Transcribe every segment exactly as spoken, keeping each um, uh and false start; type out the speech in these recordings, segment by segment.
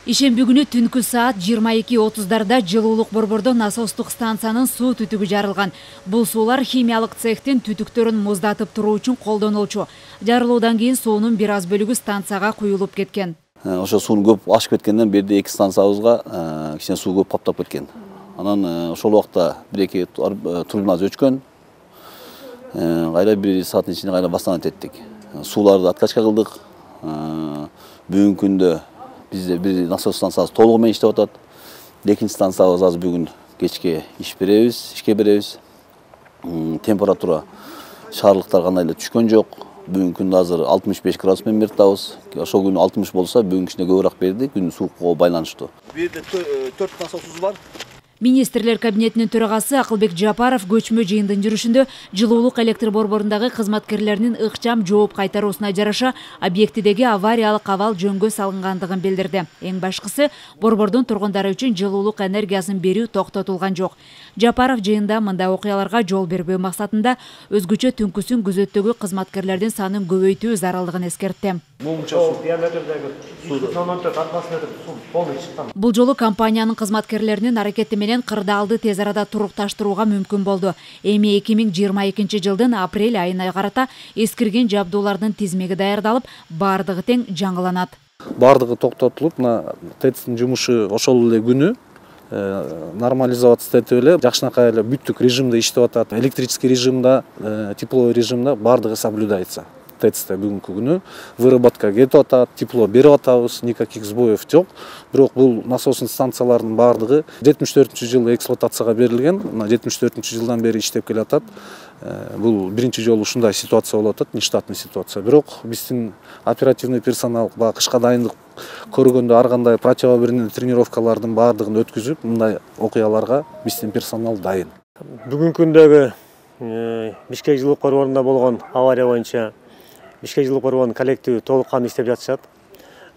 Ишемби күнү түнкү саат жыйырма эки отуздарда жылуулук борбордо насостук станциянын суу түтүгү жарылган. Бул суулар химиялык цехтин түтүктөрүн муздатып туруу үчүн колдонулчу. Жарылуудан кийин суунун бир аз бөлүгү станцияга куюлуп кеткен. Ошо суунун көп ашып кеткенден берди эки станциябызга кичине суу көп каптап кеткен. Анан ошол убакта бир эки турбинабыз өчкөн. Кайра бир сааттын ичинде кайра бастан эттик. Сууларды откачка кылдык. Бүгүнкү күндө бизде бир насос станциясы толугу менен иштеп атат. Экинчи станциябыз азыр бүгүн кечке иш беребиз, ишке беребиз. Температура шаарлыктар кандай эле түшкөн жок. Бүгүнкү күндө азыр алтымыш беш градус менен берип атабыз. Ошол күнү алтымыш болсо, бүгүнкү күндө көбүрөөк берди. Күн суугуга байланыштуу. Бул жерде төрт насосубуз бар. Министрлер кабинетинин төрагасы Акылбек Жапаров көчмө жыйындын жүрүшүндө жылуулук электр борборундагы кызматкерлеринин ыкчам жооп кайтаруусуна жараша объектидеги авариялык абал жөнгө салынгандыгын билдирди. Эң башкысы, борбордун тургундары үчүн жылуулук энергиясын берүү токтотулган жок. Жапаров жыйында мындай окуяларга жол бербөө максатында өзгөчө түнкүсүн күзөттөгү кызматкерлердин санын көбөйтүү зарылдыгын эскертти. Бул жолу компаниянын кызматкерлеринин аракети менен кырдаалды тез арада турукташтырууга мүмкүн болду. Эми эки миң жыйырма экинчи жылдын апрель айына карата эскирген жабдуулардын тизмеги даярдалып, бардыгы тең жаңыланат. Бардыгы токтотулуп, мына ТЭЦтин жумушу ошол эле күнү нормализация этип эле жакшынакай эле бүттүк режимде иштеп атат. Электрический режимда, тепловой режимда бардыгы соблюдается. ТЭЦте бүгүнкү күнү выработка кетип атат, тепло берип атабыз, никаких сбоев жок. Бирок бул насостун станциялардын бардыгы жетимиш төртүнчү жылы эксплуатацияга берилген. Мына жетимиш төртүнчү жылдан бери иштеп келатат. Бул биринчи жолу ушундай ситуация болуп атат, нештатный ситуация. Бирок биздин оперативный персонал баягы кышка дайындык көргөндө ар кандай противоаварийный тренировкалардын бардыгын өткүзүп, мындай окуяларга биздин персонал дайын. Бүгүнкү күндөгү Бишкек жылуулук борборунда болгон авария боюнча Бишкек жылуулук борборунун коллективи толук кандуу иштеп жатышат.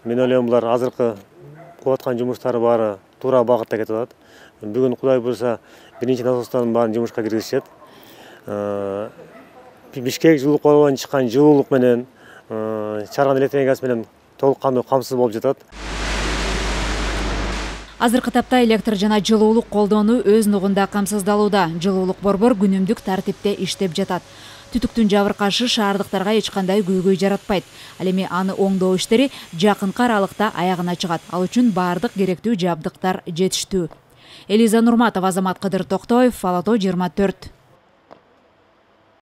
Мен ойлойм, булар азыркы кылып аткан жумуштары баары туура багытта кетип атат. Бүгүн Кудай буйрса биринчи насостордун баарын жумушка киргизишет. Бишкек жылуулук борборунан чыккан жылуулук менен чыгарган электр энергиясы менен толук кандуу камсыз болуп жатат. Азыркы тапта электр жана жылуулук колдонуу өз нугунда камсыздалууда. Жылуулук борбор күнүмдүк тартипте иштеп жатат. Түтүктүн жабыркашы шаардыктарга эч кандай көйгөй жаратпайт. Ал эми аны оңдоо иштери жакынкы аралыкта аягына чыгат. Ал үчүн бардык керектүү жабдыктар жетиштүү. Элиза Нурматова, Азамат Кыдыр Токтоев, Ала тоо жыйырма төрт.